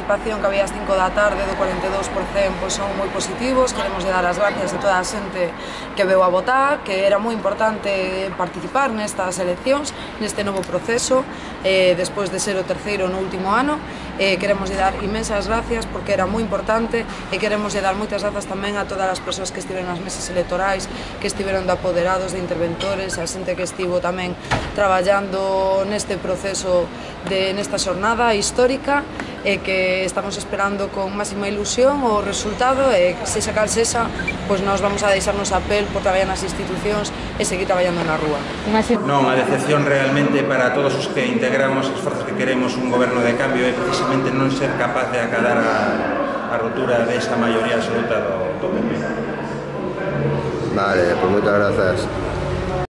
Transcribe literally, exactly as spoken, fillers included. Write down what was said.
participación que había ás cinco da tarde do cuarenta e dous por cento pois son moi positivos. Queremos dar as gracias a toda a xente que veu a votar, que era moi importante participar nestas eleccións, neste novo proceso, eh, despois de ser o terceiro no último ano. Eh, queremos dar inmensas gracias porque era moi importante, e queremos dar moitas grazas tamén a todas as persoas que estiveron nas mesas electorais, que estiveron de apoderados, de interventores, a xente que estivo tamén traballando neste proceso, de, nesta xornada histórica, e que estamos esperando con máxima ilusión o resultado, e sexa cal sexa, pois nós vamos a deixarnos a pel por traballar nas institucións e seguir traballando na rúa. Non, a decepción realmente para todos os que integramos as forzas que queremos un goberno de cambio é precisamente non ser capaz de acadar a, a rotura desa maioría absoluta do, do P P. Vale, pues moitas grazas.